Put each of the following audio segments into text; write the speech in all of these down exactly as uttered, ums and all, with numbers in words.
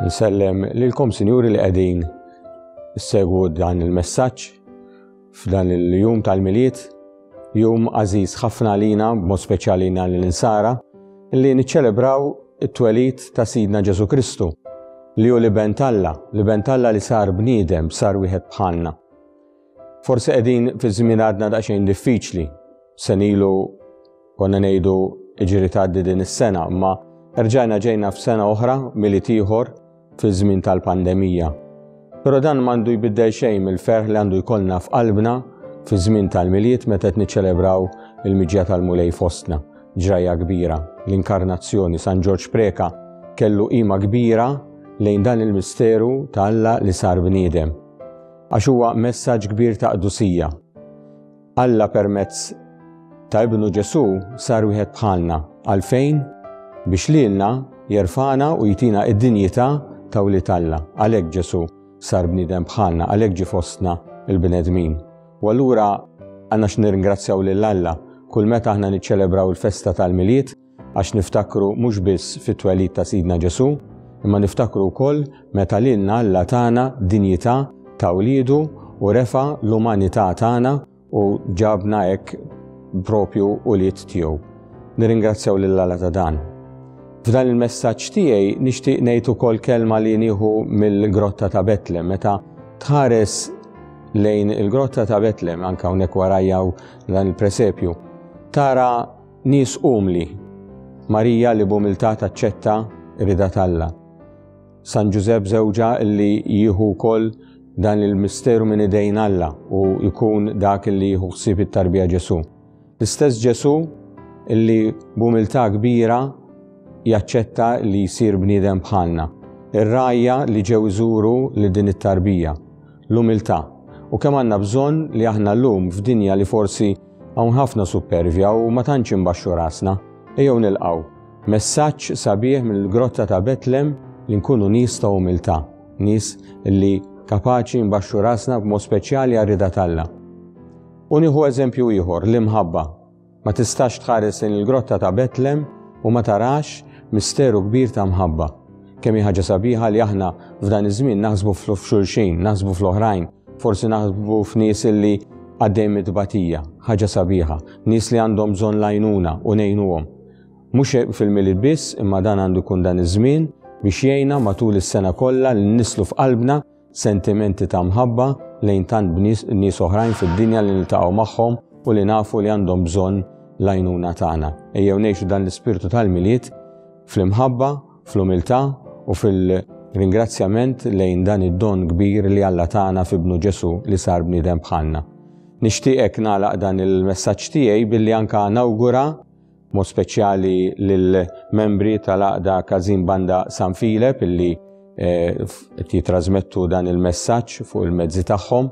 Nsellem lilkom, sinjuri, li qegħdin issegwu dan il-messaġġ f'dan il-jum tal-Milied, jum għażiż ħafna lina, b'mod speċjali lina l-Insara, li niċċelebraw it-twelid ta' Sidna Ġesu Kristu, li hu l-Iben t'Alla, l-Iben t'Alla li sar bniedem, sar wieħed bħalna. Forsi qegħdin fi żmien għadna daqsxejn diffiċli, sena ilu konna ngħidu iġri tgħaddi din is-sena, imma rġajna ġejna f'sena oħra, Milied ieħor, fi żmien tal-pandemija. Però dan m'għandu jbiddel xejn mill-ferħ li għandu jkollna f'qalbna fi żmien tal-Milied meta qed niċċelebraw il-miġja tal-Mulej fostna. Ġrajja kbira, l-inkarnazzjoni. San Ġorġ Preka kellu qima kbira lejn dan il-misteru ta' Alla li sar bniedem. Għax huwa messaġġ kbir ta' qdusija. Alla permezz ta' Ibnu Ġesu sar wieħed bħalna. Għalfejn? Biex lilna jerfagħna u jtina id-dinjità ta' wlied Alla. Għalhekk Ġesu sar bniedem bħalna, għalhekk ġie fostna il-bnedmin. U allura għandna x'nirringrazzjaw lil Alla kull meta aħna niċċelebraw il-festa tal-Milied, għax niftakru mhux biss fit-twelid ta' Sidna Ġesu, imma niftakru wkoll meta lilna Alla tana dinjità ta' wliedu u refa' l-umanità tagħna u ġabna hekk propju ulied tiegħu. Nirringrazzjaw lil Alla ta' dan. F'dan il-messaġġ tiegħi nixtieq ngħid ukoll kelma li nieħu mill-grotta ta' Betlem. Meta tħares lejn il-grotta ta' Betlem, anke hawnhekk warajja dan il-presepju, tara nies umli. Marija li b'umiltà taċċetta r-rieda t'Alla. San Ġużepp żewġha li jieħu wkoll dan il-misteru minn idejn Alla u jkun dak li jieħu ħsieb it-tarbija Ġesu. L-istess Ġesu illi b'umiltà kbira jaċċetta li jsir bniedem bħalna. Ir-rgħajja li ġew iżuru li din it-tarbija. L-umiltà. U kemm għandna bżonn li aħna llum f'dinja li forsi hawn ħafna supervja u ma tantx imbaxxu rasna, ejjew nilqgħu messaġġ sabiħ mill-grotta ta' Betlem li nkunu nies ta' umiltà, nies li kapaċi nbaxxu rasna b'mod speċjali għar-rieda t'Alla. U nieħu eżempju ieħor, l-imħabba. Ma tistax tħares lejn il-grotta ta' Betlem u ma tarax misteru kbir ta' mħabba. Kemm hi ħaġa sabiħa li aħna f'dan iż-żmien naħsbu f'xulxin, naħsbu fl-oħrajn, forsi naħsbu f'nies li għaddejn mit-tbatija, ħaġa sabiħa, nies li għandhom bżonn l-għajnuna u ngħinuhom. Mhux fil-Milied biss, imma dan għandu jkun dan iż-żmien biex jgħinna matul is-sena kollha li nisslu f'qalbna sentimenti ta' mħabba lejn tant nies oħrajn fid-dinja li niltaqgħu magħhom u li nafu li għandhom bżonn l-għajnuna tagħna. Ejjew ngħixu dan l-ispirtu tal-Milied fl-imħabba, fl-umiltà u fil-ringrazzjament lejn dan id-don kbir li Alla tagħna f'Ibnu Ġesu li sar bniedem bħalna. Nixtieqek nagħlaq dan il-messaġġ tiegħi billi anka nawgura mod speċjali lill-membri tal-Għaqda Każin Banda San Filep illi qed jitrasmettu dan il-messaġġ fuq il-mezzi tagħhom.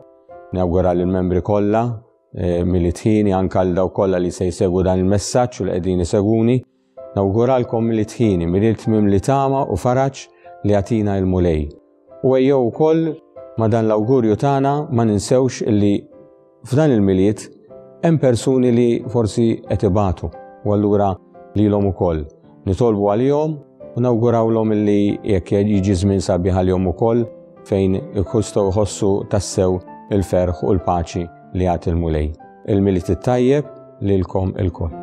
Nawgura lill-membri kollha Milied ħieni, anka għal dawk kollha li se jsegwu dan il-messaġġ u li qegħdin isegwuni. Nawguralkom Milied ħieni, Milied mimli tama u faraġ li jagħtina il-Mulej. U ejjew ukoll ma' dan l-awgurju tagħna ma ninsewx illi f'dan il-Milied hemm persuni li forsi qed ibatu, u allura lilhom ukoll nitolbu għalihom u nawgurawlhom illi jekk jiġi żmien sabiħ għalihom ukoll fejn jistgħu jħossu tassew il-ferħ u l-paċi li jagħti l-Mulej. Il-Milied it-tajjeb lilkom ilkoll.